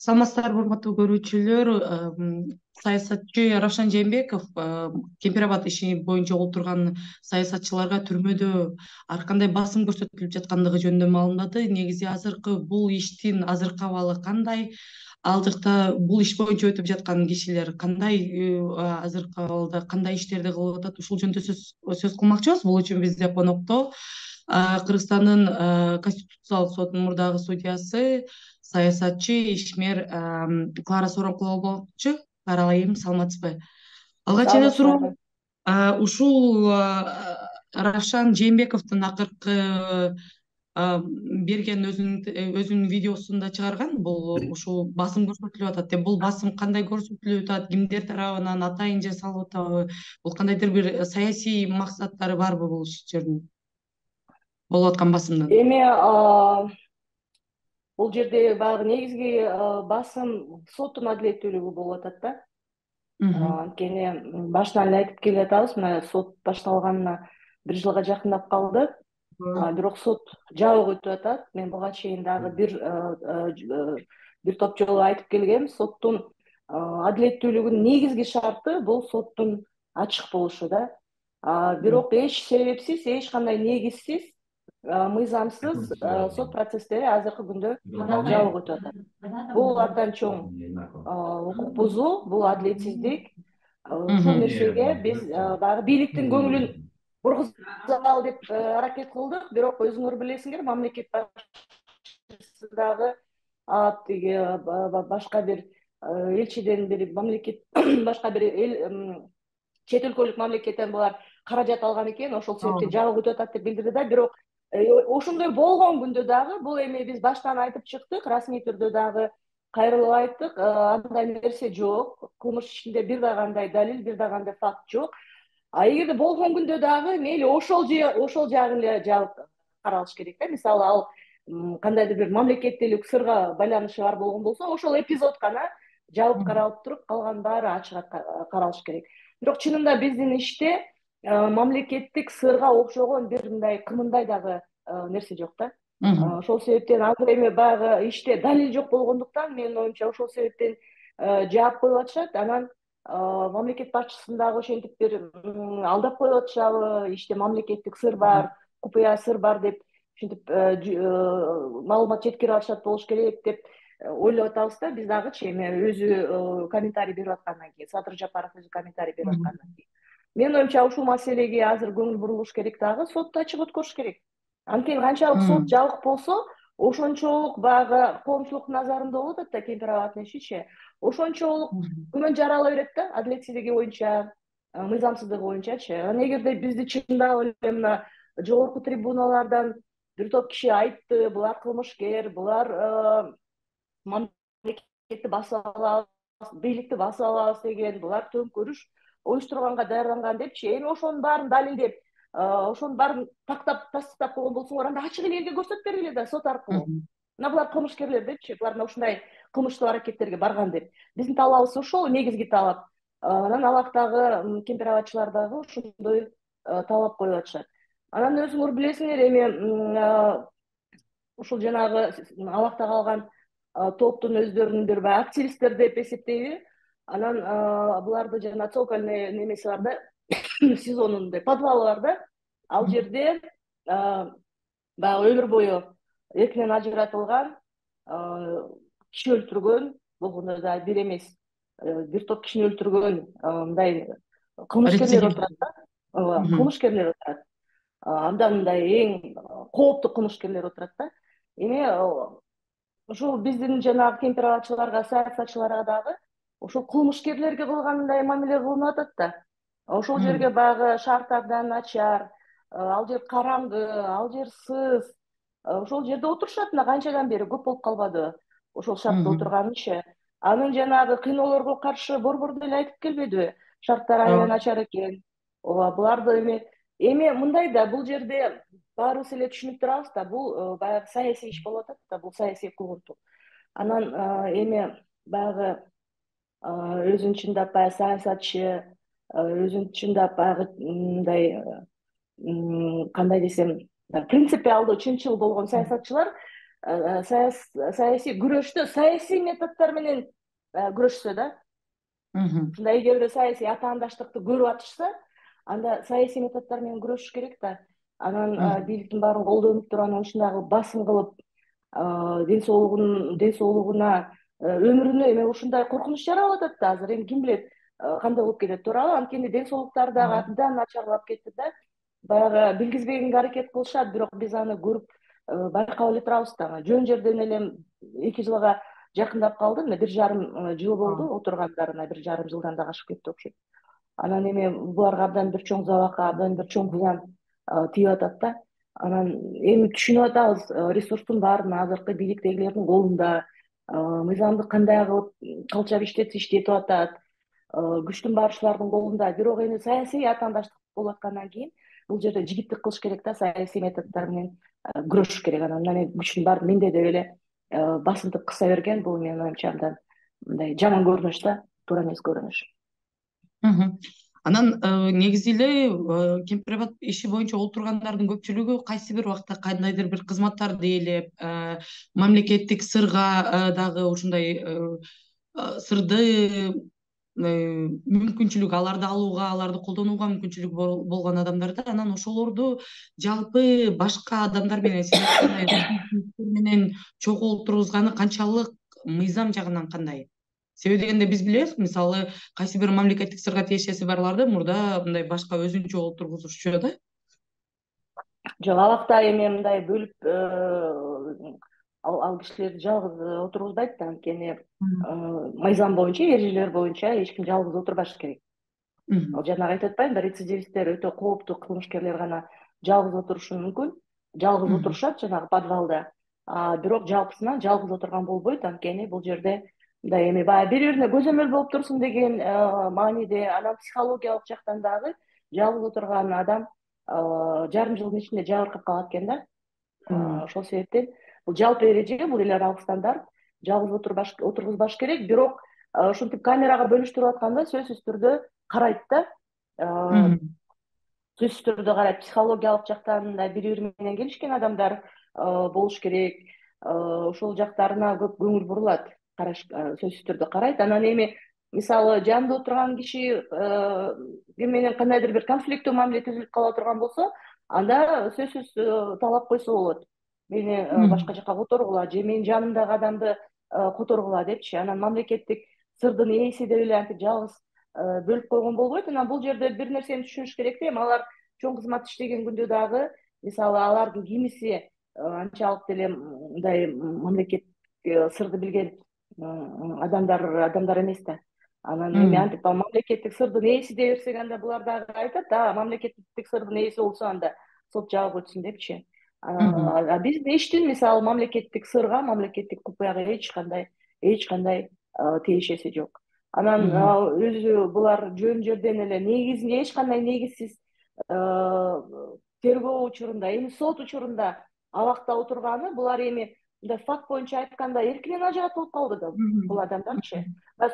Саламатсыздарбы, урматтуу көрүүчүлөр. Саясатчы Равшан Жээнбеков Кемпир Абад иши боюнча отурган саясатчыларга түрмөдө ар кандай басым көрсөтүлүп жаткандыгы жөнүндө маалымдады. Негизи азыркы бул иштин азыркы абалы кандай? Ал жакта бул иш боюнча өтүп жаткан кишилер кандай, азыркы абалда кандай иштерди кылып атат? Ушул жөнүндө сөз кылмакчыбыз. Бул үчүн бизде конокто Кыргызстандын Конституциялык сотунун мурдагы судьясы, саясатчы, ишмер Клара Сооронкулова болмокчу. Каара айым, саламатсызбы? Алгач эле суроо, ушул Равшан Жээнбековдун акыркы берген өзүнүн видеосунда чыгарган, бул ушул басым көрсөтүлүп атат деп. Бул басым кандай көрсөтүлүп атат, кимдер тарабынан атайын жасалып атабы? Бул кандайдыр бир саясий максаттары барбы бул иштердин, болуп аткан басымдын? Эми бул жерде баягы негизги басым соттун адилеттүүлүгү болуп атат да. Анткени башынан эле айтып келе жатабыз, мына сот башталганына 1 жылга жакындап калды. Бирок сот жабык өтүп атат. Мен буга чейин дагы бир топ жолу айтып келгем. Соттун адилеттүүлүгүнүн негизги шарты бул соттун ачык болушу да. Бирок эч себепсиз, эч кандай негизсиз, мыйзамсыз сот процесстери азыркы күндө жабык өтүп атат. Бул абдан чоң укук бузуу, бул адилетсиздик. Ушул нерсеге биз баягы бийликтин көңүлүн бургузалы деп аракет кылдык. Бирок өзүңөр билесиңер, мамлекет башчысы дагы тиги башка бир элчиден бир мамлекет башка бир чет өлкөлүк мамлекеттен булар каражат алган экен, ошол себептен жабык өтүп атат деп билдирди да. Бирок ошондой болгон күндө дагы бул эми биз баштан айтып чыктык, расмий түрдө дагы кайрылып айттык, андай нерсе жок. Кылмыш ишинде бир да кандай далил, бир да кандай факт жок. Эгерде болгон күндө дагы мейли ошол жагын эле жабык каралыш керек да. Мисалы ал кандайдыр бир мамлекеттүүлүк сырга байланышы бар болгон болсо, ошол эпизод гана жабык каралып туруп, калган баары ачык каралыш керек. Бирок чынында биздин иште мамлекеттик сырга окшогон бир мындай кымындай дагы нерсе жок да. Ошол себептен азыр эми баягы иште далил жок болгондуктан, менин оюмча ошол себептен жаап коюп атышат. Анан мамлекет башчысын дагы ошентип бир алдап коюп атышабы, иште мамлекеттик сыр бар, купуя сыр бар деп ушинтип маалымат жеткирип атышат болуш керек деп ойлоп атабыз да. Биз дагычы эми өзү комментарий берип аткандан кийин, Садыр Жапаров өзү комментарий берип аткандан кийин. Менин оюмча ушул маселеге азыр көңүл бурулуш керек дагы, сотту ачык өткөрүш керек. Анткени канчалык сот жабык болсо, ошончолук баягы коомчулук назарында болот атат да Кемпир Абадтын ишичи. Ошончолук күмөн жарала берет да, адилетсиздиги боюнча, мыйзамсыздыгы боюнчачы. Анан эгерде бизди чындап эле мына жогорку трибуналардан бир топ киши айтты, булар кылмышкер, булар мамлекетти басып алабыз, бийликти басып алабыз деген, булар төңкөрүш уюштурганга даярданган депчи. Эми ошонун баарын далилдеп, ошонун баарын тактап тастыктап койгон болсоңор, анда ачык эле элге көрсөтүп бергиле да сот аркылуу. Мына булар кылмышкерлер депчи, булар мына ушундай кылмыштуу аракеттерге барган деп. Биздин талабыбыз ошол, негизги талап. Анан алактагы Кемпир Абадчылар дагы ошондой талап коюп атышат. Анан өзүңөр билесиңер, эми ушул жанагы алакта калган топтун өздөрүнүн бир активисттер деп эсептейби. Анан буларды жана цокольный немеси бар да, сезонундай подвалы бар да. Ал жерде баягы өмүр бою эркинен ажыратылган, киши өлтүргөн, болгондо да бир эмес, бир топ кишини өлтүргөн мындай кылмышкерлер отурат да. Кылмышкерлер отурат. Андан мындай эң кооптуу кылмышкерлер отурат да. Эми ушул биздин жанагы Кемпир Абадчыларга, саясатчыларга дагы ошол кылмышкерлерге кылгандай мамиле кылынып атат да. Ошол жерге баягы шаарда начар, ал жер караңгы, ал жер сыз. Ошол жерде отурушат, мына канчадан бери көп болуп калбадыбы ошол шартта отурганычы. Анын жанагы кыйноолорго каршы борбордо эле айтып келбедиби? Шарттар аябай начар экен. Ооба, буларды эми мындай да, бул жерде баарыбыз эле түшүнүп турабыз да, бул баягы саясий иш болуп атат да, бул саясий куугунтук. Анан эми баягы өзүн чындап баягы саясатчы, өзүн чындап баягы мындай кандай десем, принципиалдуу, чынчыл болгон саясатчылар саясий күрөштө саясий методдор менен күрөшсө да, ушундай эгерде саясий атаандаштыкты көрүп атышса, анда саясий методдор менен күрөшүш керек да. Анан бийликтин баарын колдонуп туруп, анан ушундагы басым кылып, ден соолугуна, өмүрүнө эми ушундай коркунуч жаралып атат да азыр. Эми ким билет кандай болуп кетет, туурабы? Анткени ден соолуктары дагы абдан начарлап кетти да. Баягы билгизбегенге аракет кылышат, бирок биз аны көрүп байкап эле турабыз да. Жөн жерден эле 2 жылга жакындап калды, мына 1,5 жыл болду отургандарына, 1,5 жылдан да ашып кетти окшойт. Анан эми буларга абдан бир чоң забака, абдан бир чоң зыян тийип атат да. Анан эми түшүнүп атабыз, ресурстун баары азыркы бийликтегилердин колунда, мыйзамды кандай кылып калчап иштетсе иштетип атат, күчтүн баары ушулардын колунда. Бирок эми саясий атаандаштык болуп аткандан кийин бул жерде жигиттик кылыш керек да, саясий методдор менен күрөшүш керек. Анан мына күчтүн баары менде деп эле басынтып кыса берген, бул менин оюмча абдан мындай жаман көрүнүш да, туура эмес көрүнүш. Анан негизи эле кемпир абад иши боюнча олтургандардын көпчүлүгү кайсы бир убакта кандайдыр бир кызматтарды ээлеп, мамлекеттик сырга дагы ушундай сырды мүмкүнчүлүгү аларды алууга, аларды колдонууга мүмкүнчүлүгү болгон адамдар да. Анан ошолорду жалпы башка адамдар менен, сиз айткандай менен чогуу олтургузганы канчалык мыйзам жагынан кандай? Себеби дегенде биз билебиз, мисалы кайсы бир мамлекеттик сырга тиешеси барларды мурда мындай башка өзүнчө олтургузушчу да. Жок, абакта эми мындай бөлүп ал кишилерди жалгыз отургузбайт да, анткени мыйзам боюнча, эрежелер боюнча эч ким жалгыз отурбашы керек. Ал жанагы айтып атпаймынбы, рецидивисттер, өтө кооптуу кылмышкерлер гана жалгыз отурушу мүмкүн, жалгыз отурушат жанагы подвалда. Бирок жалпысынан жалгыз отурган болбойт, анткени бул жерде мындай эми баягы бири-бирине көзөмөл болуп турсун деген мааниде, анан психологиялык жактан дагы жалгыз отурган адам жарым жылдын ичинде жабыркап калат экен да. Ошол себептен бул жалпы эреже, бул эл аралык стандарт, жалгыз отургузбаш керек. Бирок ушинтип камерага бөлүштүрүп атканда сөзсүз түрдө карайт да. Сөзсүз түрдө карайт, психологиялык жактан да бири-бири менен келишкен адамдар болуш керек. Ошол жактарына көп көңүл бурулат, караш сөзсүз түрдө карайт. Анан эми мисалы жанында отурган киши ким менен кандайдыр бир конфликттүү мамиле түзүлүп кала турган болсо, анда сөзсүз талап койсо болот. Мени башка жака которгула же менин жанымдагы адамды которгула депчи. Анан мамлекеттик сырдын ээси деп эле антип жалгыз бөлүп койгон болбойт. Анан бул жерде бир нерсени түшүнүш керек да, эми алар чоң кызмат иштеген күндө дагы мисалы алардын кимиси анчалык деле мындай мамлекеттик сырды билген адамдар эмес да. Анан эми антип мамлекеттик сырдын ээси дей берсек, анда булар дагы айтат, мамлекеттик сырдын ээси болсо анда сот жабып өтсүн депчи. Биздин иштин мисалы мамлекеттик сырга, мамлекеттик купуяга эч кандай тиешеси жок. Анан өзү булар жөн жерден эле негизинде эч кандай негизсиз тергөө учурунда, эми сот учурунда абакта отурганы, булар эми мындай факт боюнча айтканда эркинен ажыратып болуп калды да бул адамдарчы.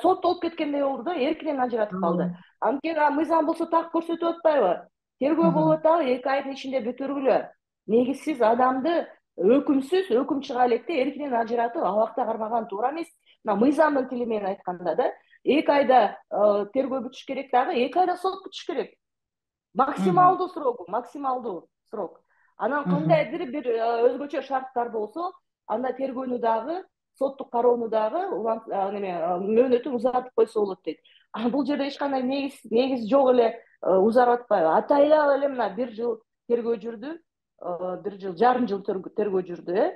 Соттолуп кеткендей болду да, эркинен ажыратып калды. Анткени мыйзам болсо так көрсөтүп атпайбы? Тергөө болуп атабы, 2 айдын ичинде бүтүргүлө. Негизсиз адамды өкүм чыга электе эркинен ажыратып абакта кармаган туура эмес. Мына мыйзамдын тили менен айтканда да, 2 айда тергөө бүтүш керек дагы, 2 айда сот бүтүш керек. Максималдуу срок. Анан кандайдыр бир өзгөчө шарттар болсо, анда тергөөнү дагы, соттук кароону дагы мөөнөтүн узартып койсо болот дейт. Бул жерде эч кандай негиз жок эле узарып атпайбы? Атайлап эле мына 1 жыл тергөө жүрдү, 1,5 жыл тергөө жүрдү,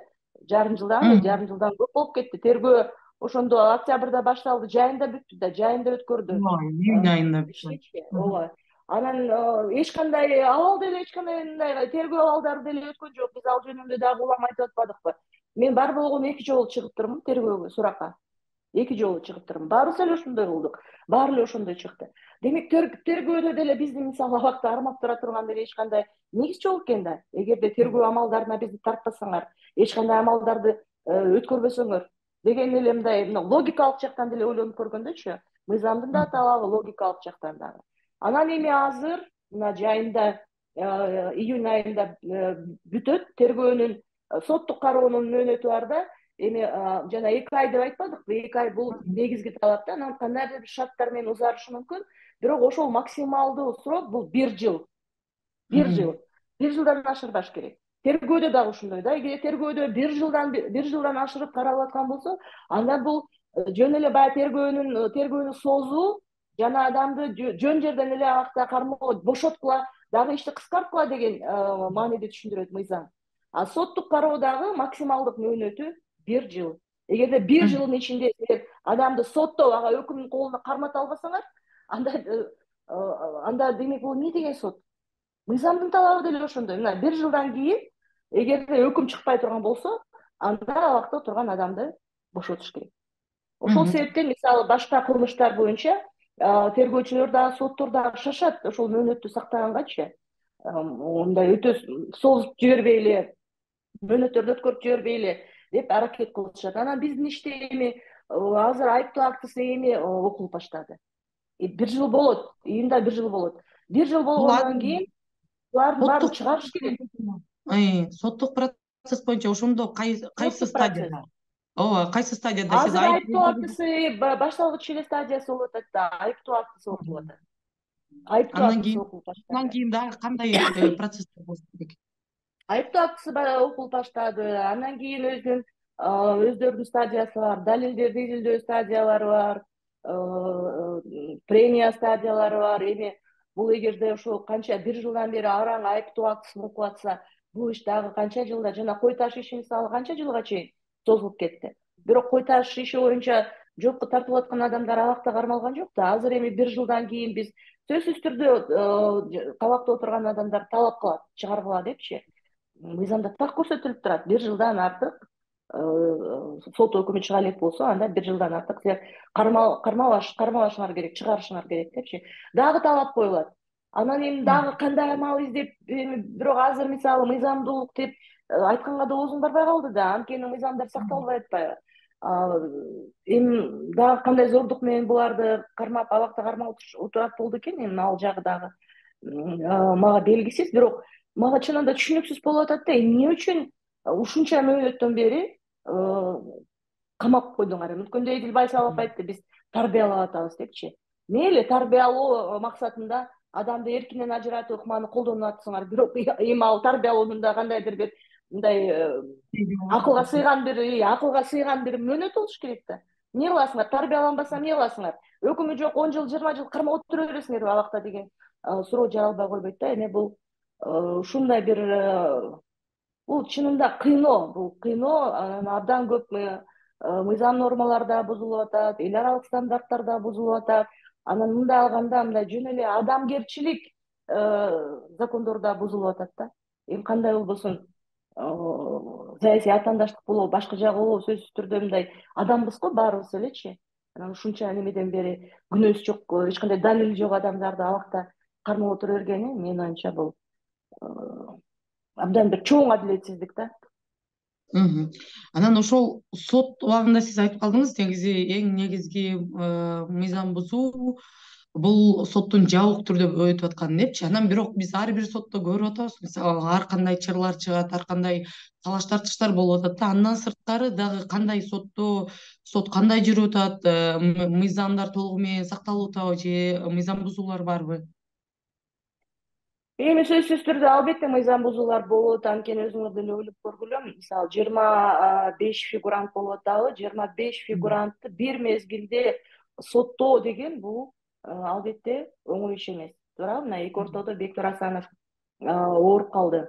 жарым жылдан көп болуп кетти. Тергөө ошондо октябрда башталды, жайында бүттү да, жайында өткөрдү. Июнь айында бүттү. Ооба. Анан эч кандай абал деле, эч кандай мындай тергөө абалдары деле өткөн жок. Биз ал жөнүндө дагы улам айтып атпадыкпы? Мен бар болгону 2 жолу чыгып турмун тергөөгө, суракка. 2 жолу чыгып турмун. Баарыбыз эле ошондой болдук. Баары эле ошондой чыкты. Демек тергөөдө деле биздин мисалы абакта армап тура турган деле эч кандай негиз жок экен да. Эгерде тергөө амалдарына бизди тартпасаңар, эч кандай амалдарды өткөрбөсөңөр деген эле мындай логикалык жактан деле ойлонуп көргөндөчү, мыйзамдын да талабы логикалык жактан дагы. Анан эми азыр мына жайында июнь айында бүтөт тергөөнүн соттук кароонун мөөнөтү бар да. Эми жана 2 ай деп айтпадыкпы? 2 ай бул негизги талап да. Анан кандайдыр бир шарттар менен узарышы мүмкүн. Бирок ошол максималдуу срок бул 1 жыл. 1 жыл. 1 жылдан ашырбаш керек. Тергөөдө дагы ошондой да. Эгер тергөөдө 1 жылдан ашырып каралып аткан болсо, анда бул жөн эле баягы тергөөнү созуу жана адамды жөн жерден эле акта кармоо, бошоткула, дагы ишти кыскарткыла деген мааниде түшүндүрөт мыйзам. А соттук кароодагы максималдык мөөнөтү 1 жыл. Эгерде 1 жылдын ичинде силер адамды соттоп, ага өкүмдүн колуна кармата албасаңар, анда демек бул эмне деген сот? Мыйзамдын талабы деле ошондой. Мына 1 жылдан кийин эгерде өкүм чыкпай турган болсо, анда абакта турган адамды бошотуш керек. Ошол себептен мисалы башка кылмыштар боюнча тергөөчүлөр дагы соттор дагы шашат ошол мөөнөттү сактагангачы. Мындай өтө созуп жибербейли, мөөнөттөрдү өткөрүп жибербейли деп аракет кылышат. Анан биздин иште эми азыр айыптоо актысы эми окулуп баштады. 1 жыл болот, июнда 1 жыл болот. 1 жыл болгондон кийин булардын баарын чыгарыш керек. Соттук процесс боюнча ошондо кайсы стадияда? Ооба, кайсы стадияда сиз Азыр айыптоо актысы башталгыч эле стадиясы болуп атат да, айыптоо актысы окулуп атат. Айыптоо актысы окулуп баштады. Андан кийин дагы кандай процесстер болуш керек? Айыптоо актысы окулуп баштады. Андан кийин өздөрүнүн стадиясы бар, далилдерди изилдөө стадиялары бар, прения стадиялары бар. Эми бул эгерде ошо канча 1 жылдан бери араң айыптоо актысын окуп атса, бул иш дагы канча жылда, жана кой таш иши мисалы канча жылга чейин созулуп кетти. Бирок кой таш иши боюнча жоопко тартылып аткан адамдар абакта кармалган жок да. Азыр эми 1 жылдан кийин биз сөзсүз түрдө кабакта отурган адамдар талап кылат, чыгаргыла депчи. Мыйзамда так көрсөтүлүп турат. 1 жылдан артык сот өкүмү чыга элек болсо, анда 1 жылдан артык силер кармалашыңар керек, чыгарышыңар керек депчи. Дагы талап коюлат. Анан эми дагы кандай амал издеп, бирок азыр мисалы мыйзамдуулук деп айтканга да оозуң барбай калды да. Анткени мыйзамдар сакталбай атпайбы? Эми дагы кандай зордук менен буларды кармап, абакта кармап отурат болду экен, эми ал жагы дагы мага белгисиз. Бирок мага чынында да түшүнүксүз болуп атат да, эмне үчүн ушунча мөөнөттөн бери камап койдуңар? Өткөндө Эдил Байсалов айтты, биз тарбиялап атабыз депчи. Мейли тарбиялоо максатында адамды эркинен ажыратып ыкманы колдонуп атсыңар, бирок эми ал тарбиялоонун да кандайдыр бир мындай акылга сыйган бир мөөнөт болуш керек да. Эмне кыласыңар? Тарбияланбаса эмне кыласыңар? Өкүмү жок 10 жыл, 20 жыл кармап отура бересиңерби абакта деген суроо жаралбай койбойт да. Эми бул ушундай бир бул чынында бул кыйноо, абдан көп мыйзам нормалары да бузулуп атат, эл аралык стандарттар да бузулуп атат. Анан мындай алганда мындай жөн эле адамгерчилик закондор да бузулуп атат да. Эми кандай болбосун, саясий атаандаштык болобу, башка жагы болобу, сөзсүз түрдө мындай адамбыз го баарыбыз элечи. Анан ушунча немеден бери күнөөсү жок, эч кандай далили жок адамдарды абакта кармап отура бергени менин оюмча бул абдан бир чоң адилетсиздик да. Анан ошол сот убагында сиз айтып калдыңыз, негизи эң негизги мыйзам бузуу бул соттун жабык түрдө өтүп атканы депчи. Анан бирок биз ар бир сотто көрүп атабыз, мисалы ар кандай чырлар чыгат, ар кандай талаш тартыштар болуп атат да. Андан сырткары дагы кандай сот кандай жүрүп атат, мыйзамдар толугу менен сакталып атабы же мыйзам бузуулар барбы? Эми сөзсүз түрдө албетте мыйзам бузуулар болот, анткени өзүңөр деле ойлоп көргүлө, мисалы 25 фигурант болуп атабы, 25 фигурантты бир мезгилде соттоо деген бул албетте оңой иш эмес. Туурабы? Мына эки ортодо Бектур Асанов ооруп калды.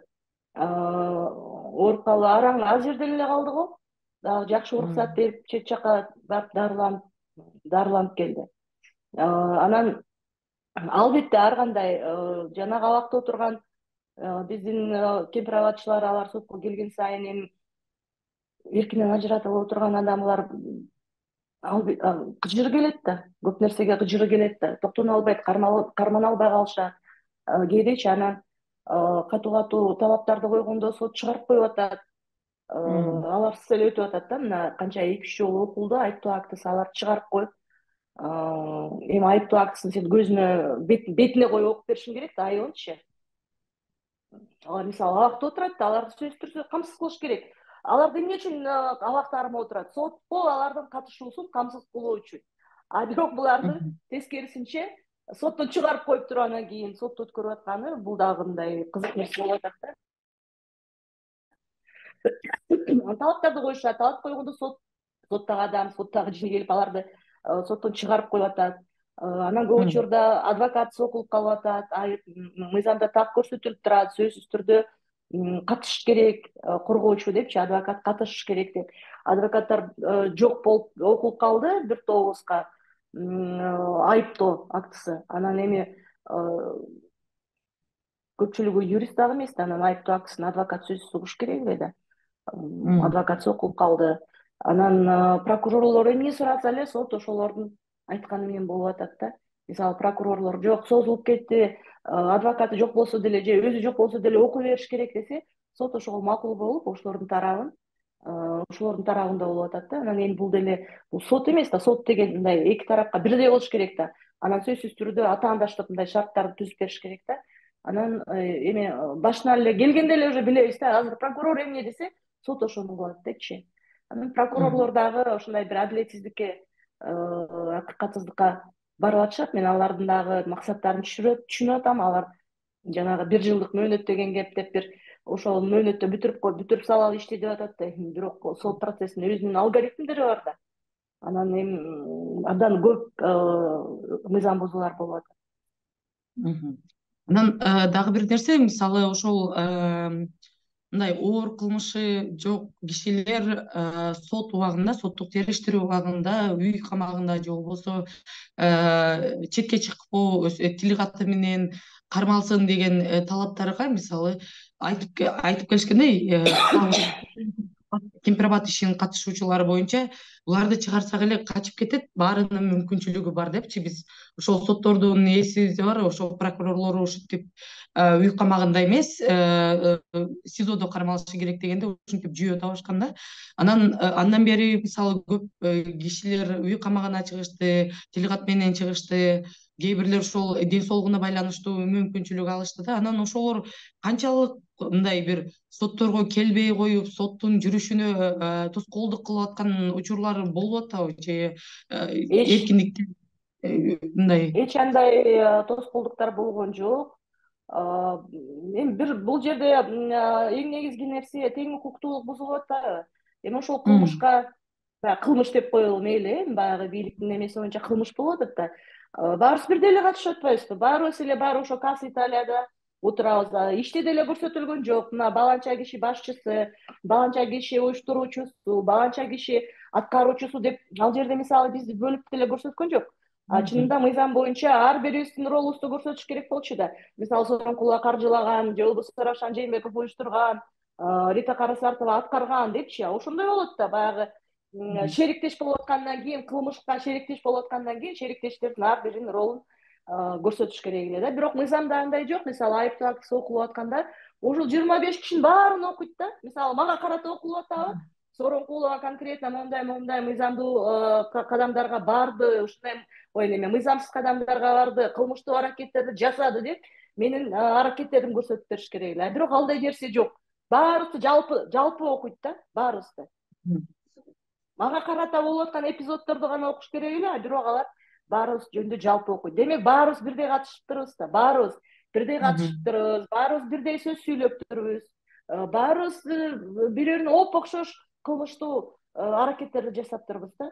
Ооруп калды, араң аз жерден эле калды го. Дагы жакшы уруксат берип чет жака барып дарыланып келди. Анан албетте ар кандай жанагы абакта отурган биздин кемпир абадчылар, алар сотко келген сайын эми эркинен ажыратылып отурган адамдар кыжыры келет да, көп нерсеге кыжыры келет да, токтоно албайт, кармана албай калышат. Кээдечи анан катуу талаптарды койгондо сот чыгарып коюп атат. Аларсыз эле өтүп атат да. Мына канча 2-3 жолу окулду айыптоо актысы, алар чыгарып коюп, эми айыптоо актысын сен көзүнө бетине коюп окуп беришиң керек да, айылынчы. мисалы абакта отурат да, аларды сөзсүз түрдө камсыз кылыш керек. Алар эмне үчүн абакта кармап отурат? Сотко алардын катышуусун камсыз кылуу үчүн. А бирок буларды тескерисинче соттон чыгарып коюп туруп анан кийин сотто өткөрүп атканы бул дагы мындай кызык нерсе болуп атат да. Талаптарды коюшат, талап койгондо соттогу адам, соттогу киши келип аларды соттон чыгарып коюп атат. Анан көп учурда адвокат сокулуп калып атат, мыйзамда так көрсөтүлүп турат, сөзсүз түрдө катышыш керек, коргоочу депчи, адвокат катышыш керек деп. Адвокаттар жок болуп окулуп калды бир тобубузга айыптоо актысы. Анан эми көпчүлүгү юрист дагы эмес да, анан айыптоо актысын адвокат сөзсүз угуш керек эле да. Адвокат сокулуп калды. Анан прокурорлор эмне сураса эле сот ошолордун айтканы менен болуп атат да. Мисалы прокурорлор жок, созулуп кетти, адвокаты жок болсо деле же өзү жок болсо деле окуй бериш керек десе, сот ошого макул болуп, ошолордун тарабында болуп атат да. Анан эми бул деле бул сот эмес да, сот деген мындай эки тарапка бирдей болуш керек да. Анан сөзсүз түрдө атаандаштык мындай шарттарды түзүп бериш керек да. Анан эми башынан эле келгенде эле уже билебиз да, азыр прокурор эмне десе, сот ошону кылат депчи. Анан прокурорлор дагы ошондой бир адилетсиздикке, акыкатсыздыкка барып атышат. Мен алардын дагы максаттарын түшүнүп атам. Алар жанагы 1 жылдык мөөнөт деген кеп деп бир ошол мөөнөттө бүтүрүп салалы ишти деп атат да. Бирок сот процессинин өзүнүн алгоритмдери бар да. Анан эми абдан көп мыйзам бузуулар болуп атат. Анан дагы бир нерсе, мисалы ошол мындай оор кылмышы жок кишилер сот убагында, соттук териштирүү убагында үй камагында же болбосо четке чыкпоо, тил каты менен кармалсын деген талаптарга мисалы айтып келишкендей, Кемпир-Абад ишинин катышуучулары боюнча буларды чыгарсак эле качып кетет, баарынын мүмкүнчүлүгү бар депчи. Биз ошол соттордун эсибизде бар, ошол прокурорлор ушинтип үй камагында эмес, СИЗОдо кармалышы керек дегенде ушинтип жүйө табышкан да. Андан бери мисалы көп кишилер үй камагына чыгышты, тил кат менен чыгышты, кээ бирлер ошол ден соолугуна байланыштуу мүмкүнчүлүк алышты да. Анан ошолор канчалык мындай бир сотторго келбей коюп, соттун жүрүшүнө тоскоолдук кылып аткан учурлар болуп атабы же эркиндикти мындай? Эч андай тоскоолдуктар болгон жок. Эми бул жерде эң негизги нерсе тең укуктуулук бузулуп атпайбы? Эми ошол кылмышка кылмыш деп коелу мейли, баягы бийликтин эмеси боюнча кылмыш болуп атат да. Баарыбыз бирдей эле катышып атпайбызбы? Баарыбыз эле ошо Касс Италияда отурабыз. Иште деле көрсөтүлгөн жок. Мына баланча киши башчысы, баланча киши уюштуруучусу, баланча киши аткаруучусу деп ал жерде мисалы бизди бөлүп деле көрсөткөн жок. Чынында мыйзам боюнча ар бирибиздин ролубузду көрсөтүш керек болчу да. Мисалы Сооронкулова каржылаган, же болбосо Равшан Жээнбеков уюштурган, Рита Карасартова аткарган депчи. Ошондой болот да, баягы шериктеш болуп аткандан кийин, кылмышка шериктеш болуп аткандан кийин шериктештердин ар биринин ролун көрсөтүш керек эле да. Бирок мыйзамда андай жок. Мисалы айыптоо актысы окулуп атканда ошол 25 кишинин баарын окуйт да. Мисалы мага карата окулуп атабы? Сооронкулова конкретно моундай мыйзамдуу кадамдарга барды, ушундай мыйзамсыз кадамдарга барды, кылмыштуу аракеттерди жасады деп менин аракеттеримди көрсөтүп бериш керек эле. Бирок андай нерсе жок. Баарыбызды жалпы окуйт да, баарыбызды. Мага карата болуп аткан эпизоддорду гана окуш керек эле, бирок алар баарыбыз жөнүндө жалпы окуйт. Демек баарыбыз бирдей катышыптырбыз да, баарыбыз бирдей сөз сүйлөп турбуз, баарыбыз бири-бирине оп-окшош кылмыштуу аракеттерди жасап турбуз да.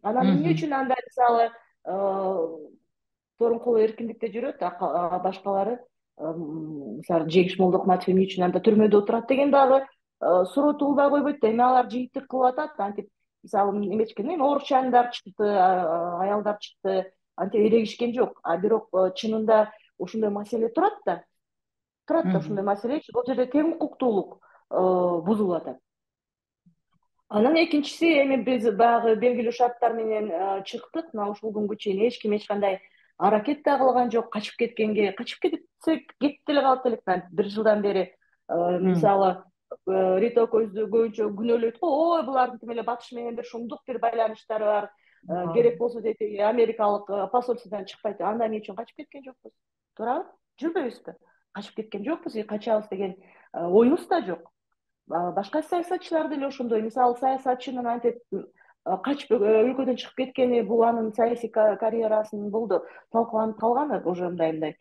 Анан эмне үчүн анда мисалы Сооронкулова эркиндикте жүрөт, башкалары мисалы Жеңиш Молдокматов эмне үчүн анда түрмөдө отурат деген дагы суроо туулбай койбойт да. Эми алар жыйынтык кылып атат, антип мисалы эмечкен оорукчандар чыкты, аялдар чыкты, антип эрегишкен жок. Бирок чынында ошондой маселе турат да. Ошондой маселе. Бул жерде тең укуктуулук бузулуп атат. Анан экинчиси, эми биз баягы белгилүү шарттар менен чыктык. Мына ушул күнгө чейин эч ким эч кандай аракет да кылган жок. Качып кетсек кетип деле калат элек. 1 жылдан бери мисалы Рита көздү көбүнчө күнөөлөйт го. Ой, булардын тим эле Батыш менен бир шумдук бир байланыштары бар. Керек болсо дейт, америкалык посольстводон чыкпайт. Анда эмне үчүн качып кеткен жокпуз? Туурабы? Жүрбөйбүзбү? качып кеткен жокпуз, качабыз деген оюбуз да жок. Башка саясатчылар деле ошондой. Мисалы, саясатчынын антип качып өлкөдөн чыгып кеткени бул анын саясий карьерасынын болду талкаланып калганы, уже мындай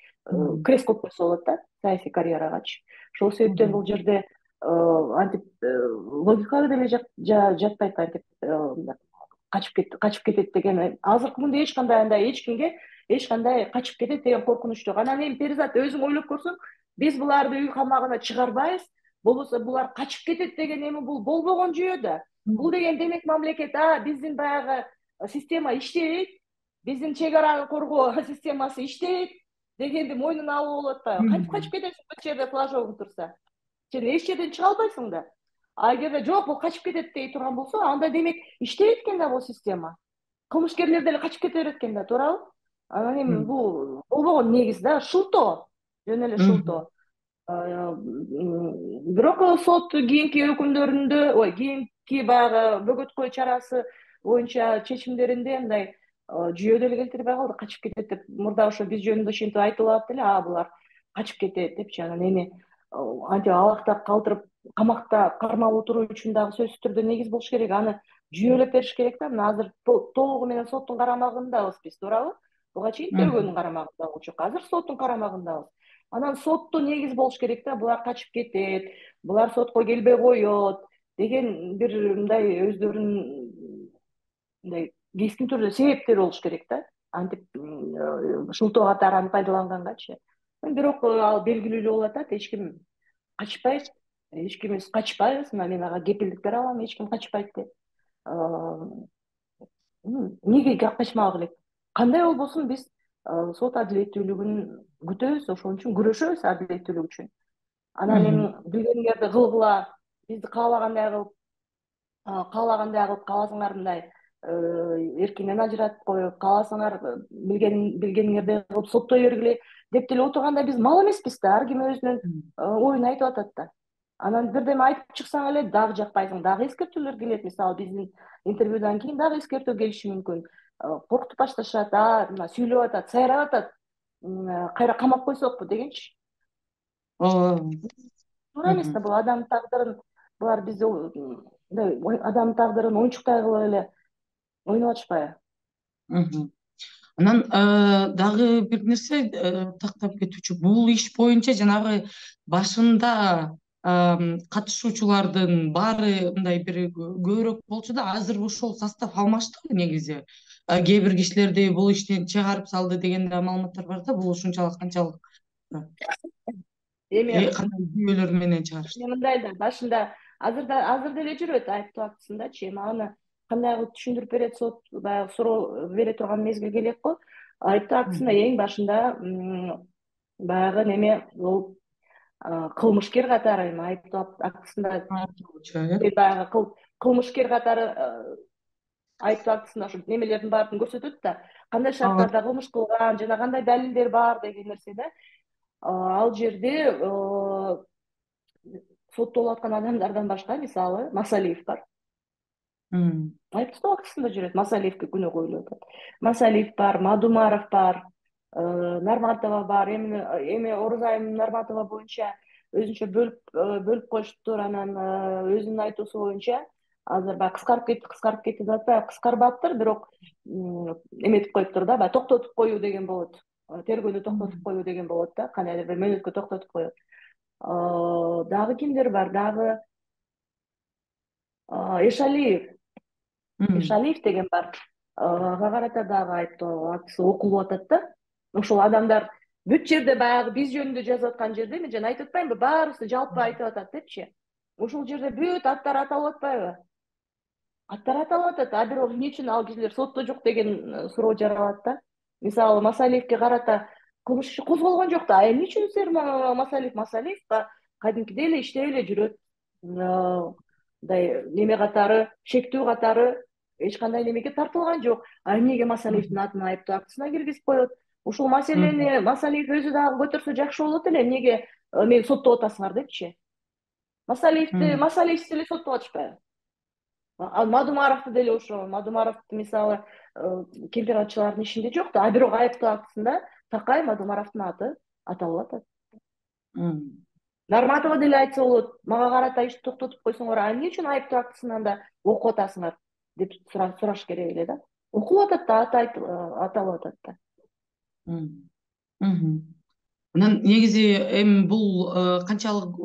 крест коюп койсо болот да, саясий карьерагачы. Ошол себептен бул жерде антип логикага деле жатпайт, антип качып кетет деген. Азыркы күндө эч кандай андай эч кимге эч кандай качып кетет деген коркунуч жок. Анан эми Перизат өзүң ойлоп көрсөң, биз буларды үй камагына чыгарбайбыз, болбосо булар качып кетет деген эми бул болбогон жүйө да. Бул деген демек мамлекет биздин баягы система иштейт, биздин чек араны коргоо системасы иштейт дегенди мойнуна алуу болуп атпайбы? Кантип качып кетесиң бул жерде флажогуң турса? Сен эч жерден чыга албайсың да. А эгерде жок бул качып кетет дей турган болсо, анда демек иштейт экен да бул система. Кылмышкерлер деле качып кете берет экен да, туурабы? Анан эми бул болбогон негиз да, шылтоо, жөн эле шылтоо. Бирок сот кийинки өкүмдөрүндө, кийинки баягы бөгөткөө чарасы боюнча чечимдеринде мындай жүйө деле келтирбей калды, качып кетет деп. Мурда ошо биз жөнүндө ушинтип айтылып атты эле, булар качып кетет депчи. Анан эми антип алакта калтырып камакта кармалып отуруу үчүн дагы сөзсүз түрдө негиз болуш керек. Аны жүйөлөп бериш керек да. Мына азыр толугу менен соттун карамагындабыз биз, туурабы? Буга чейин тергөөнүн карамагында болчук, азыр соттун карамагындабыз. Анан сотто негиз болуш керек да, булар качып кетет, булар сотко келбей коет деген бир мындай өздөрүнүн мындай кескин түрдө себептери болуш керек да. Антип шылтоо катары аны пайдалангангачы. Бирок ал белгилүү болуп атат, эч ким качпайт, эч кимибиз качпайбыз. Мына мен ага кепилдик бере алам, эч ким качпайт деп. Эмнеге качмак элек? Кандай болбосун биз сот адилеттүүлүгүн күтөбүз, ошон үчүн күрөшөбүз адилеттүүлүк үчүн. Анан эми билгениңерди кылгыла, бизди каалагандай кылып, кааласаңар мындай эркинен ажыратып коюп, кааласаңар билгениңердей кылып соттой бергиле деп деле отурганда биз мал эмеспиз да, ар ким өзүнүн оюн айтып атат да. Анан бирдеме айтып чыксаң эле дагы жакпайсың, дагы эскертүүлөр келет. Мисалы биздин интервьюдан кийин дагы эскертүү келиши мүмкүн. Коркутуп башташат, мына сүйлөп атат, сайрап атат, кайра камап койсокпу дегенчи. Туура эмес да, бул адам тагдырын, булар бизди мындай адам тагдырын оюнчуктай кылып эле ойноп атышпайбы? Анан дагы бир нерсе тактап кетүүчү, бул иш боюнча жанагы башында катышуучулардын баары мындай бир көбүрөөк болчу да, азыр ошол состав алмаштыбы негизи? Кээ бир кишилерди бул иштен чыгарып салды деген да маалыматтар бар да, бул ушунчалык канчалык эми кандай жүйөлөр менен чыгарышты? Мындай да, башында азыр деле жүрөт айыптоо актысындачы. Эми аны кандай кылып түшүндүрүп берет сот, баягы суроо бере турган мезгил келет го. Айыптоо актысында эң башында баягы неме бул кылмышкер катары, эми айыптоо актысында баягы кылмышкер катары айыптоо актысында ошо немелердин баарын көрсөтөт да, кандай шарттарда кылмыш кылган жана кандай далилдер бар деген нерсе да. Ал жерде соттолуп аткан адамдардан башка, мисалы, Масалиев бар. Айыптоо актысында жүрөт, Масалиевке күнөө коюлуп атат. Масалиев бар, Мадумаров бар, Нарматова бар. Эми Орузайым Нарматова боюнча өзүнчө бөлүп коюштур. Анан өзүнүн айтуусу боюнча азыр баягы кыскарып кетти деп атпайбы, кыскарбаптыр, бирок эметип коюптур да, баягы токтотуп коюу деген болот. Тергөөнү токтотуп коюу деген болот да, кандайдыр бир мөөнөткө токтотуп коюу. Дагы кимдер бар? Дагы Эшалиев деген бар. Ага карата дагы айыптоо актысы окулуп атат да. Ошол адамдар бүт жерде баягы биз жөнүндө жазып аткан жерде, мен жана айтып атпаймынбы, баарыбызды жалпы айтып атат депчи. Ошол жерде бүт аттар аталып атпайбы? Аттар аталып атат, бирок эмне үчүн ал кишилер сотто жок деген суроо жаралат да. Мисалы, Масалиевке карата кылмыш иши козголгон жок да. Эмне үчүн сер Масалиев кадимкидей эле иштеп эле жүрөт. Мындай неме катары, шектүү катары эч кандай немеге тартылган жок. Эмнеге Масалиевдин атын айыптоо актысына киргизип коет? Ушул маселени Масалиев өзү дагы көтөрсө жакшы болот эле. Эмнеге мени соттоп атасыңар депчи? Масалиевди деле соттоп атышпайбы? Мадумаровду деле ошо. Мадумаровду мисалы кемпир-атчылардын ишинде жок да, бирок айыптоо актысында такай Мадумаровдун аты аталып атат. Норматова деле айтса болот, мага карата ишти токтотуп койсоңор, а эмне үчүн айыптуу актысынан да окуп атасыңар деп сураш керек эле да. Окулуп атат да, аталып атат да. Анан негизи эми бул канчалык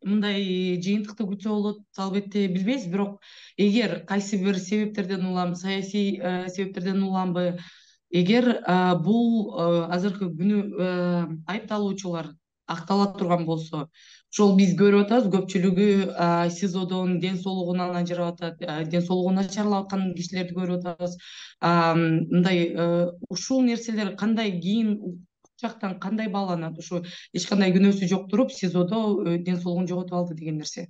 мындай жыйынтыкты күтсө болот, албетте билбейбиз, бирок эгер кайсы бир себептерден улам, саясий себептерден уламбы, эгер бул азыркы күнү айыпталуучулар актала турган болсо, ошол биз көрүп атабыз, көпчүлүгү СИЗОдон ден соолугунан ажырап атат, ден соолугу начарлап аткан кишилерди көрүп атабыз. Мындай ушул нерселер кандай кийин жактан кандай бааланат? Ушу эч кандай күнөөсү жок туруп СИЗОдо ден соолугун жоготуп алды деген нерсе.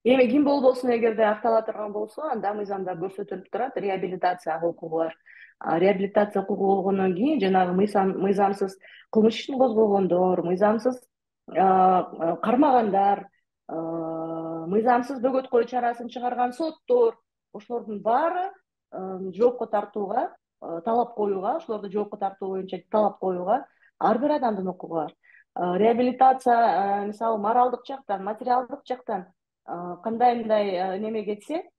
Эми ким болбосун, эгерде актала турган болсо, анда мыйзамда көрсөтүлүп турат реабилитацияга укугу бар. Реабилитация укугу болгондон кийин жанагы мыйзамсыз кылмыш ишин козгогондор, мыйзамсыз кармагандар, мыйзамсыз бөгөт коюу чарасын чыгарган соттор, ошолордун баары жоопко тартууга, талап коюуга, ошолорду жоопко тартуу боюнча талап коюуга ар бир адамдын укугу бар. Реабилитация мисалы моралдык жактан, материалдык жактан кандай мындай неме кетсе,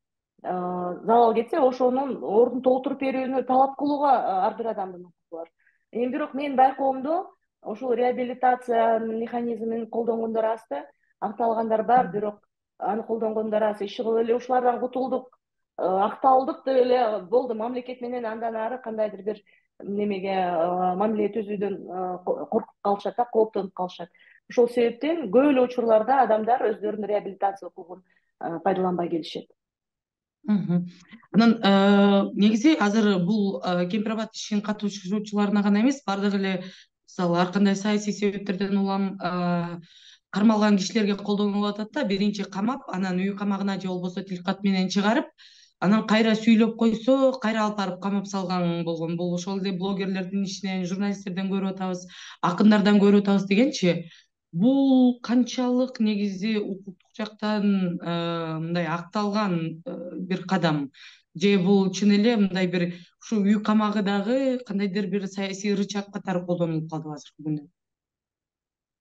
залал кетсе, ошонун ордун толтуруп берүүнү талап кылууга ар бир адамдын укугу бар. Эми бирок менин байкоомдо ошул реабилитация механизмин колдонгондор аз да, акталгандар бар, бирок аны колдонгондор аз. Иши кылып эле ушулардан кутулдук, акталдык деп эле болду, мамлекет менен андан ары кандайдыр бир немеге мамиле түзүүдөн коркуп калышат да, кооптонуп калышат. Ошол себептен көп эле учурларда адамдар өздөрүнүн реабилитация укугун пайдаланбай келишет. Анан негизи азыр бул Кемпир Абад ишин катышуучуларына гана эмес, баардык эле мисалы ар кандай саясий себептерден улам кармалган кишилерге колдонулуп атат да. Биринчи камап, анан үй камагына же болбосо тилкат менен чыгарып, анан кайра сүйлөп койсо, кайра алып барып камап салган болгон. Бул ошол эле блогерлердин ишинен, журналисттерден көрүп атабыз, акындардан көрүп атабыз дегенчи. Бул канчалык негизи укуктук жактан мындай акталган бир кадам, же бул чын эле мындай бир ушу үй камагы дагы кандайдыр бир саясий рычаг катары колдонулуп калдыбы азыркы күндө?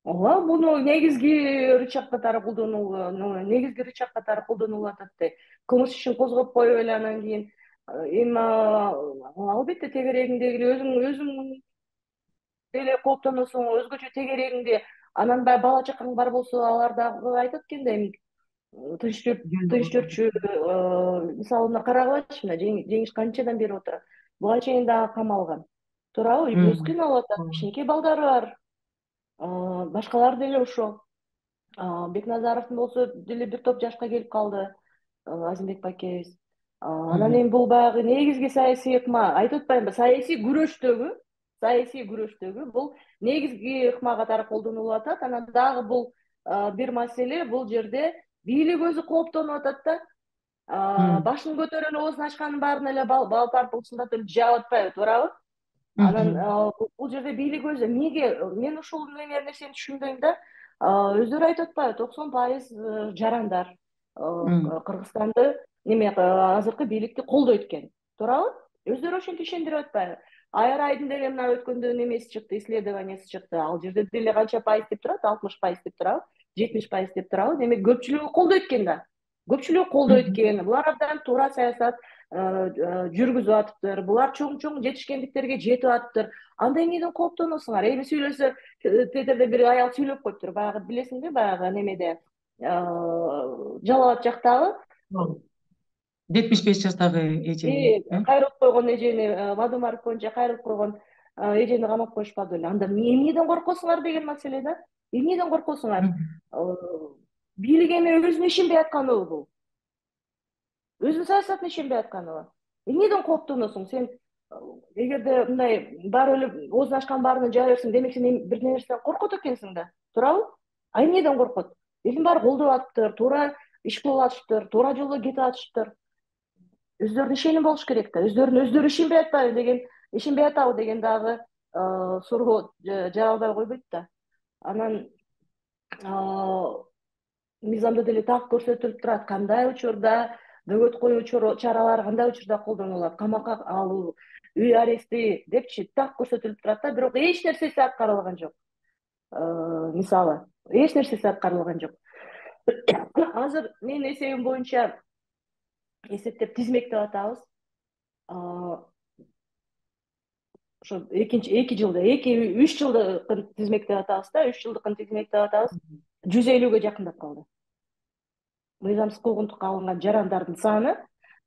Ооба, муну негизги рычаг катары колдонулуп атат да. Кылмыш ишин козгоп коюп эле анан кийин эми албетте тегерегиңдеги өзүң деле кооптоносуң, өзгөчө тегерегиңде анан баягы бала чакаң бар болсо, алар дагы айтат экен да, эми тынч жүрчү, мисалы мына карагылачы, мына жеңиш канчадан бери отурат, буга чейин дагы камалган, туурабы? Үй бүлөсү кыйналып атат, кичинекей балдары бар, башкалар деле ошол. Бекназаровдун болсо деле бир топ жашка келип калды, Азимбек бакебиз. Анан эми бул баягы негизги саясий ыкма, айтып атпаймынбы, саясий күрөштөгү бул негизги ыкма катары колдонулуп атат. Анан дагы бул бир маселе, бул жерде бийлик өзү кооптонуп атат да. Башын көтөрүп оозун ачкандын баарын эле балпар былчылдатып жаап атпайбы, туурабы? Анан бул жерде бийлик өзү эмнеге, мен ушул нерсени түшүнбөйм да. Өздөрү айтып атпайбы, 90% жарандар Кыргызстанды азыркы бийликти колдойт экен, туурабы? Өздөрү ошентип ишендирип атпайбы? Айрайдын деле мына өткөндө немеси чыкты, исследованиясы чыкты. Ал жерде деле канча пайыз деп турат? 60% деп турабы? 70% деп турабы? Демек көпчүлүгү колдойт экен да. Көпчүлүгү колдойт экен. Булар абдан туура саясат жүргүзүп атыптыр. Булар чоң жетишкендиктерге жетип атыптыр. Анда эмнеден кооптоносуңар? Эми сүйлөсө, Твиттерде бир аял сүйлөп коюптур. Баягы билесиңби, баягы немеде Жалал Абад жактагы 75 жаштагы эже кайрылып койгон эжени, Мадумаров боюнча кайрылып койгон эжени камап коюшпады беле. Анда эмнеден коркосуңар деген маселе да. Эмнеден коркосуңар? Бийлик эми өзүнө ишенбей атканыбы бул? Өзүнүн саясатына ишенбей атканыбы? Эмнеден кооптоносуң сен? Эгерде мындай баары эле оозун ачкан баарына жаа берсең, демек сен бир нерседен коркот экенсиң да, туурабы? А эмнеден коркот? Элдин баары колдоп атыптыр, туура иш кылып атышыптыр, туура жолдо кетип атышыптыр. Өздөрүнүн ишеними болуш керек да. Өздөрү ишенбей атабы деген дагы суроо жаралбай койбойт да. Анан мыйзамда деле так көрсөтүлүп турат, кандай учурда бөгөт коюу чаралары кандай учурда колдонулат, камакка алуу, үй арести депчи так көрсөтүлүп турат да, бирок эч нерсеси аткарылган жок. Мисалы эч нерсеси аткарылган жок. Азыр менин эсебим боюнча эсептеп тизмектеп атабыз. Ошо 3 жылдыкын тизмектеп атабыз да, 3 жылдыкын тизмектеп атабыз. 150-гө жакындап калды. Мыйзамсыз куугунтукка алынган жарандардын саны.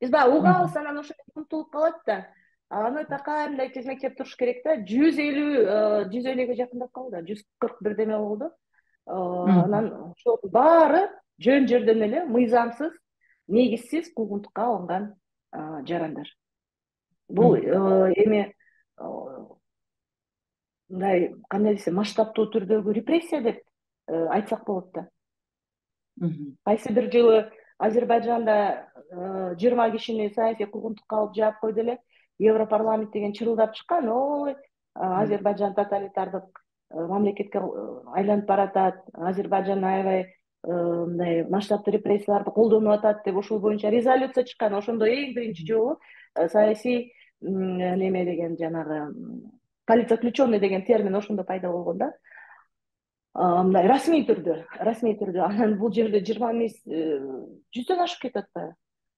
Биз баягы угабыз, анан ошо унутулуп калат да. Аны такайымдай тизмектеп туруш керек да. 150-гө жакындап калды. 141 деме болду. Анан ошол баары жөн жерден эле мыйзамсыз, негизсиз куугунтукка алынган жарандар. Бул эми мындай кандай десем, масштабтуу түрдөгү репрессия деп айтсак болот да. Кайсы бир жылы Азербайжанда 20 кишини саясий куугунтукка алып жаап койду эле. Европарламент деген чырылдап чыккан, ой, Азербайжан тоталитардык мамлекетке айланып баратат, Азербайжан аябай мындай масштабтуу репрессияларды колдонуп атат деп ошол боюнча резолюция чыккан. Ошондо эң биринчи жолу саясий неме деген жанагы политзаключенный деген термин ошондо пайда болгон да. Мындай расмий түрдө. Анан бул жерде 20 эмес 100дөн ашып кетип атпайбы?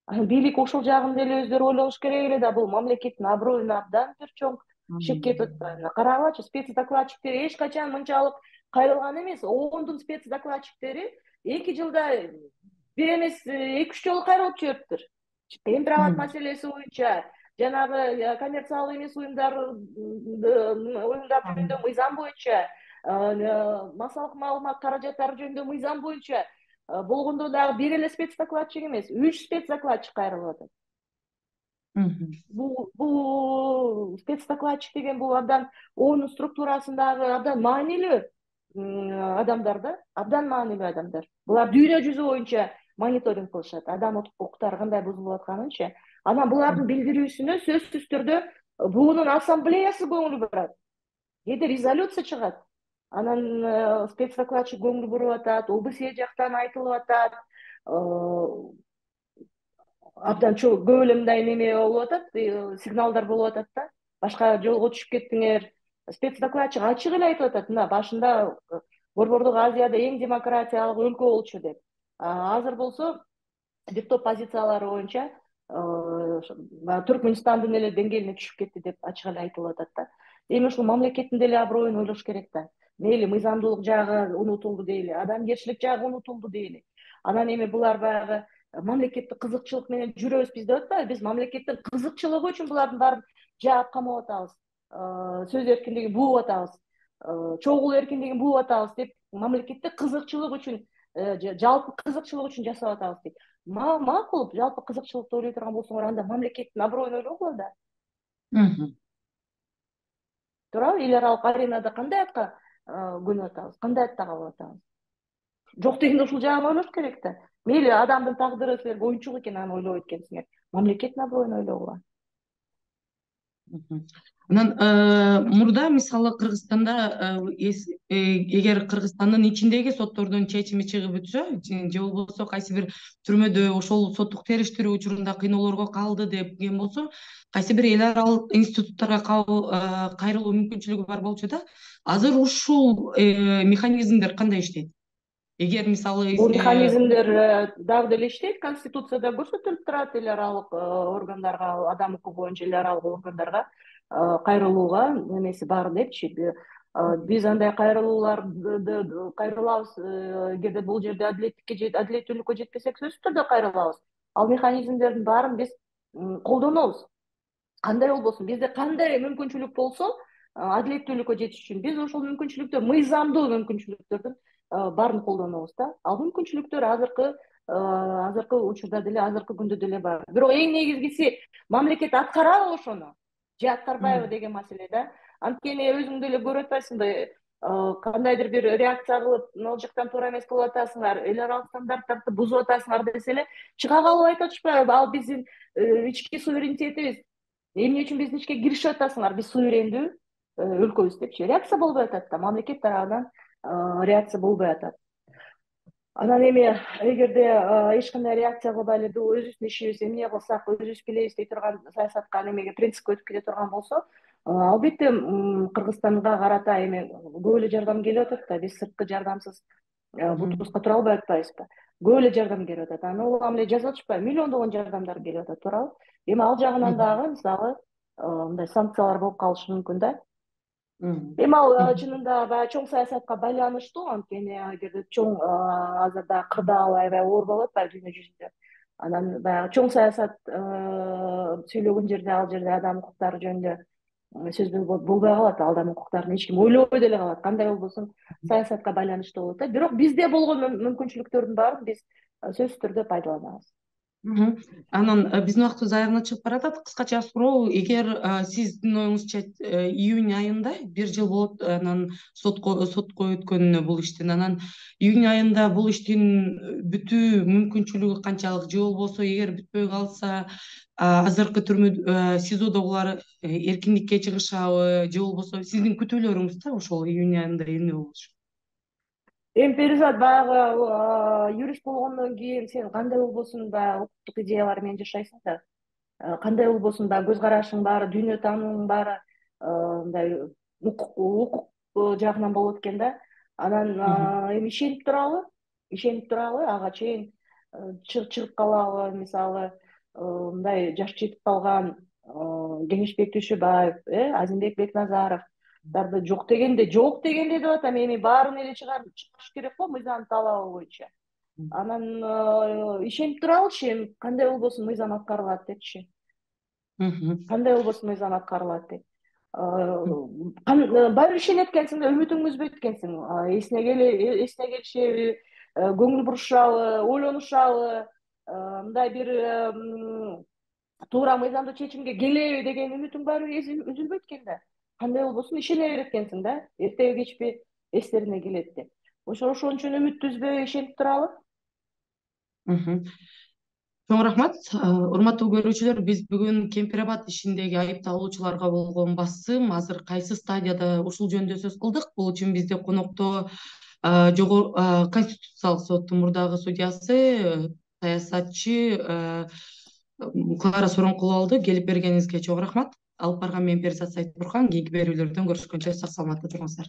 Анан бийлик ошол жагын деле өздөрү ойлош керек эле да, бул мамлекеттин аброюна абдан бир чоң шек кетип атпайбы? Карагылачы, спецдокладчиктер эч качан мынчалык кайрылган эмес. ООНдун спецдокладчиктери 2 жылда бир эмес 2-3 жолу кайрылып жибериптир. Темпироват маселеси боюнча, жанагы коммерциялык эмес уюмдар жөнүндө мыйзам боюнча, массалык маалымат каражаттары жөнүндө мыйзам боюнча болгондо дагы бир эле спецдокладчик эмес, 3 спецдокладчик кайрылып атат. Бул спецдокладчик деген бул абдан ООН структурасындагы абдан маанилүү адамдар да, абдан маанилүү адамдар. Булар дүйнө жүзү боюнча мониторинг кылышат, адам укуктары кандай бузулуп атканынчы. Анан булардын билдирүүсүнө сөзсүз түрдө буунун ассамблеясы көңүл бурат. Кээде резолюция чыгат. Анан спецдокладчик көңүл буруп атат, ОБСЕ жактан айтылып атат. Абдан көп эле мындай неме болуп атат, сигналдар болуп атат да. Башка жолго түшүп кеттиңер. Спецдокладчик ачык эле айтып атат, мына башында Борбордук Азияда эң демократиялык өлкө болчу деп. Азыр болсо бир топ позициялары боюнча Түркмөнстандын эле деңгээлине түшүп кетти деп ачык эле айтылып атат да. Эми ушул мамлекеттин деле аброюн ойлош керек да. Мейли мыйзамдуулук жагы унутулду дейли, адамгерчилик жагы унутулду дейли. Анан эми булар баягы мамлекеттик кызыкчылык менен жүрөбүз биз деп атпайбы? Биз мамлекеттин кызыкчылыгы үчүн булардын баарын жаап камап атабыз. Сөз эркиндигин бууп атабыз. Чогуу эркиндигин бууп атабыз деп мамлекеттик кызыкчылык үчүн, жалпы кызыкчылык үчүн жасап атабыз дейт. Макул, жалпы кызыкчылыкты ойлой турган болсоңор, анда мамлекеттин аброюн ойлогула да. Туурабы? Эл аралык аренада кандай атка көнүп атабыз, кандай атта калып атабыз? Жок дегенде ушул жагын ойлош керек да. Мейли адамдын тагдыры силер оюнчук экен, аны ойлобойт экенсиңер. Мамлекеттин аброюн ойлогула. Анан мурда мисалы Кыргызстанда эгер Кыргызстандын ичиндеги соттордун чечими чыгып өтсө, же болбосо кайсы бир түрмөдө ошол соттук териштирүү учурунда кыйноолорго калды деген болсо, кайсы бир эл аралык институттарга кайрылуу мүмкүнчүлүгү бар болчу да. Азыр ушул механизмдер кандай иштейт? Эгер мисалы бул механизмдер дагы деле иштейт, конституцияда көрсөтүлүп турат эл аралык органдарга, адам укугу боюнча эл аралык органдарга кайрылууга немеси бар депчи. Биз андай кайрылабыз, эгерде бул жерде адилеттүүлүккө жетпесек, сөзсүз түрдө кайрылабыз. Ал механизмдердин баарын биз колдонобуз. Кандай болбосун, бизде кандай мүмкүнчүлүк болсо, адилеттүүлүккө жетиш үчүн биз ошол мүмкүнчүлүктөр, мыйзамдуу мүмкүнчүлүктөрдүн баарын колдонобуз да. Ал мүмкүнчүлүктөр азыркы учурда деле, азыркы күндө деле бар. Бирок эң негизгиси мамлекет аткарабы ошону же аткарбайбы деген маселе да. Анткени өзүң деле көрүп атпайсыңбы, кандайдыр бир реакция кылып, ал жактан туура эмес кылып атасыңар, эл аралык стандарттарды бузуп атасыңар десе эле чыга калып айтып атышпайбы? Ал биздин ички суверенитетибиз. Эмне үчүн биздин ичке киришип атасыңар? Биз суверендүү өлкөбүз депчи. Реакция болбой атат да, мамлекет тарабынан реакция болбой атат. Анан эми эгерде эч кандай реакция кылбай эле өзүбүздүн ишибиз эмне кылсак өзүбүз билебиз дей турган саясатка немеге принципке өтүп кете турган болсо, албетте Кыргызстанга карата эми көп эле жардам келип атат да. Биз сырткы жардамсыз Мгм. бутубузга тура албай атпайбызбы? Көп эле жардам келип атат. Анан улам эле жазып атышпайбы? Миллиондогон жардамдар келип атат, туурабы? Эми ал жагынан Мгм. дагы мисалы мындай санкциялар болуп калышы мүмкүн да. Мгм. Эми ал Мгм. чынында баягы чоң саясатка байланыштуу, анткени эгерде чоң азырда кырдаал аябай оор болуп атпайбы дүйнө жүзүндө. Анан баягы чоң саясат сүйлөгөн жерде ал жерде адам укуктары жөнүндө сөз болбой калат, адам укуктарын эч ким ойлобой деле калат. Кандай болбосун саясатка байланыштуу болот да. Бирок бизде болгон мүмкүнчүлүктөрдүн баарын биз сөзсүз түрдө пайдаланабыз. Мгм. Анан биздин убактыбыз аягына чыгып баратат. Кыскача суроо: эгер сиздин оюңузча июнь айында бир жыл болот анан сотко өткөнүнө бул иштин, анан июнь айында бул иштин бүтүү мүмкүнчүлүгү канчалык, же болбосо эгер бүтпөй калса азыркы түрмө СИЗОдогулар эркиндикке чыгышабы, же болбосо сиздин күтүүлөрүңүз да ошол июнь айында эмне болушу? Эми Перизат, баягы юрист болгондон кийин сен кандай болбосун баягы укуктук идеялар менен жашайсың да. Кандай болбосун баягы көз карашың баары, дүйнө таанууң баары мындай укук жагынан болот экен да. Анан Мгм. эми ишенип туралы ага чейин чыгып калабы, мисалы мындай жашы жетип калган Кеңешбек Дүйшөбаев, Азимбек Бекназаровдарды жок дегенде деп атам, эми баарын эле чыгарыш керек го мыйзам талабы боюнча. Анан ишенип туралычы, эми кандай болбосун мыйзам аткарылат депчи. Мгм. Кандай болбосун мыйзам аткарылат деп. Баары бир ишенет экенсиң да, үмүтүңдү үзбөйт экенсиң. Эсине келишеби, көңүл бурушабы, ойлонушабы, мындай бир туура мыйзамдуу чечимге келеби деген үмүтүң баары үзүлбөйт экен да. Кандай болбосун ишене берет экенсиң да, эртеби кечпи эстерине келет деп. Ошол үчүн үмүттү үзбөй ишенип туралы. Мгм. Чоң рахмат. Урматтуу көрүүчүлөр, биз бүгүн Кемпир Абад ишиндеги айыпталуучуларга болгон басым азыр кайсы стадияда ушул жөнүндө сөз кылдык. Бул үчүн бизде конокто Конституциялык соттун мурдагы судьясы, саясатчы Клара Соронкулу болду. Келип бергениңизге чоң рахмат. Алып барган мен Перизат Сайтбурхан. Кийинки берүүлөрдөн көрүшкөнчө сак саламатта туруңуздар.